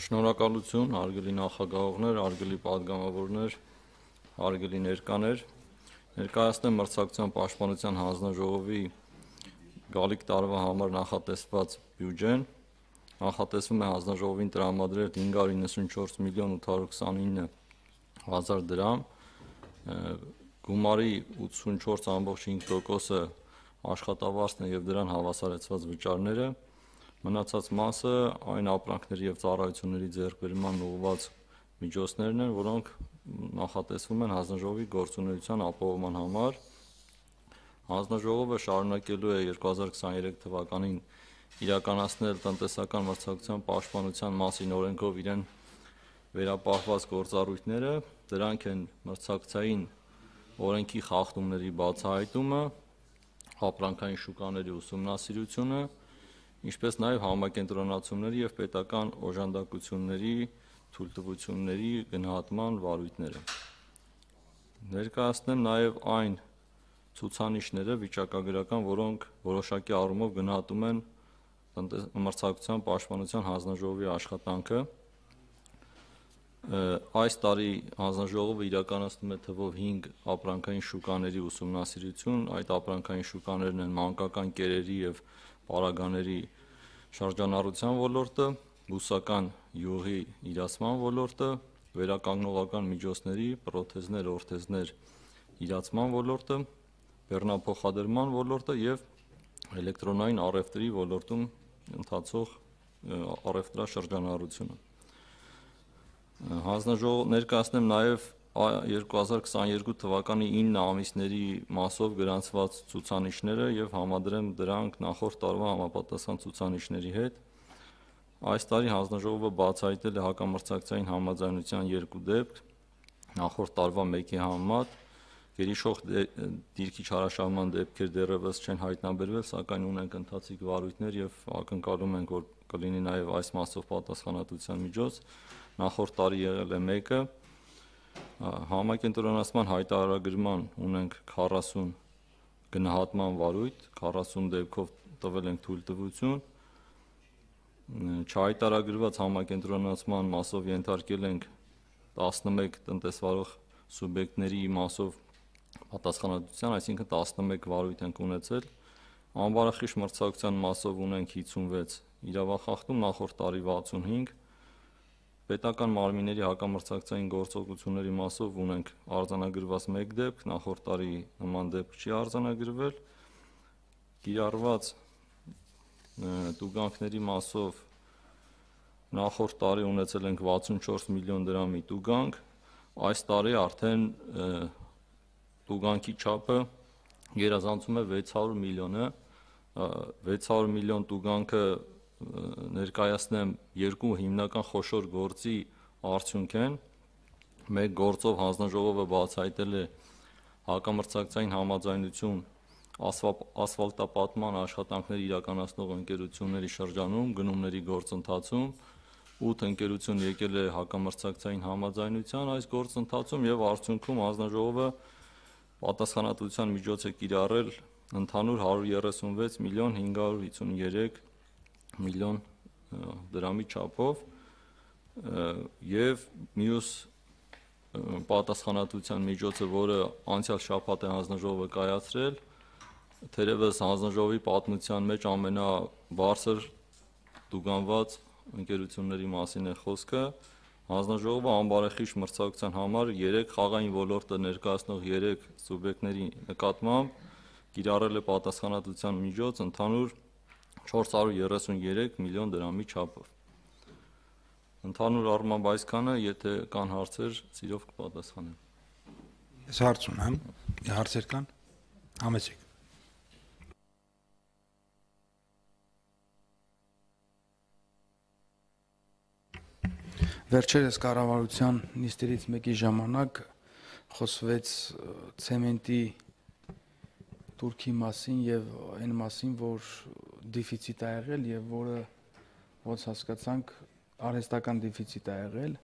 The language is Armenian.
Շնորհակալություն, հարգելի նախագահողներ, հարգելի պատգամավորներ, հարգելի ներկաներ, ներկայացնեմ մրցակցության պաշտպանության հանձնաժողովի գալիք տարվա համար նախատեսված բյուջեն, նախատեսվում է հանձնաժողովին տրամադրել 594 միլիոն 829 հազար դրամ, գումարի 84.5%-ը աշխատավարձն է և դրան հավասարեցված վճարները, մնացած մասը այն ապրանքների և ծառայությունների ձեռքբերման ուղղված միջոցներն են, որոնք նախատեսվում են հանձնաժողովի գործունեության ապահովման համար։ Հանձնաժողովը շարունակելու է 2023 թվականին իրականացնել տնտեսական մրցակցության պաշտպանության մասին օրենքով իրեն վերապահված գործառույթները, դրանք են մրցակցային օրենքի խախտումների բացահայտումը, ապրանքային շուկաների ուսումնասիրությունը, ինչպես նաև համակենտրոնացումների և պետական օժանդակությունների թույլտվությունների գնահատման վարույթները։ Ներկայացնեմ նաև այն ցուցանիշները վիճակագրական, որոնք որոշակի առումով գնահատում են մրցակցության պաշտպանության հանձնաժողովի աշխատանքը։ Այս տարի հանձնաժողովը իրականացնում է թվով 5 ապրանքային շուկաների ուսումնասիրություն, այդ ապրանքային շուկաներն են մանկական կերերի և պարագաների շրջանառության ոլորտը, բուսական յուղի իրացման ոլորտը, վերականգնողական միջոցների պրոթեզներ, օրթեզներ իրացման ոլորտը, բեռնափոխադրման ոլորտը և էլեկտրոնային առևտրի ոլորտում ընթացող առևտրաշրջանառությունը։ Ներկայացնեմ նաև 2022 թվականի 9 ամիսների մասով գրանցված ցուցանիշները և համադրեմ դրանք նախորդ տարվա համապատասխան ցուցանիշների հետ։ Այս տարի հանձնաժողովը բացահայտել է հակամրցակցային համաձայնության 2 դեպք, նախորդ տարվա 1-ի համեմատ, գերիշխող դիրքի չարաշահման դեպքեր դեռևս չեն հայտնաբերվել, սակայն ունենք ընթացիկ վարույթներ և ակնկալում ենք, որ կլինի նաև այս մասով պատասխանատվության միջոց, նախորդ տարի եղել է 1-ը, համակենտրոնացման հայտարարագրման ունենք 40 գնահատման վարույթ, 40 դեպքով տվել ենք թույլտվություն, չհայտարարված համակենտրոնացման մասով ենթարկել ենք 11 տնտեսվարող սուբյեկտների մասով պատասխանատվության, այսինքն 11 վարույթ ենք ունեցել, անբարեխիղճ մրցակցության մասով ունենք 56 իրավախախտում, նախորդ տարի 65, պետական մարմինների հակամրցակցային գործողությունների մասով ունենք արձանագրված 1 դեպք, նախորդ տարի նման դեպք չի արձանագրվել, կիրառված տուգանքների մասով նախորդ տարի ունեցել ենք 64 միլիոն դրամի տուգանք, այս տարի արդեն տուգանքի չափը գերազանցում է 600 միլիոնը, 600 միլիոն տուգանքը ներկայացնեմ 2 հիմնական խոշոր գործի արդյունք են, մեկ գործով հանձնաժողովը բացահայտել է հակամրցակցային համաձայնություն ասֆալտապատման աշխատանքներ իրականացնող ընկերությունների շրջանում գնումների գործընթացում, 8 ընկերություն եկել է հակամրցակցային համաձայնության այս գործընթացում և արդյունքում հանձնաժողովը պատասխանատվության միջոց է կիրառել ընդհանուր 136 միլիոն 553 միլիոն դրամի չափով և մյուս պատասխանատվության միջոցը, որը անցյալ շաբաթ է հանձնաժողովը կայացրել, թերևս հանձնաժողովի պատմության մեջ ամենաբարձր տուգանված ընկերությունների մասին է խոսքը, հանձնաժողովը անբարեխիղճ մրցակցության համար 3 խաղային ոլորտը ներկայացնող 3 սուբյեկտների նկատմամբ կիրառել է պատասխանատվության միջոց ընդհանուր 433 միլիոն դրամի չափով։ Ընդհանուր առմամբ այսքանը, եթե կան հարցեր, սիրով կպատասխանեմ։ Ես հարց ունեմ, հարցեր կան, համեցեք։ Վերջերս կառավարության նիստերից մեկի ժամանակ խոսվեց ցեմենտի տուրքի մասին եւ այն մասին, որ դեֆիցիտ է եղել եւ որը ոնց հասկացանք արհեստական դեֆիցիտ է եղել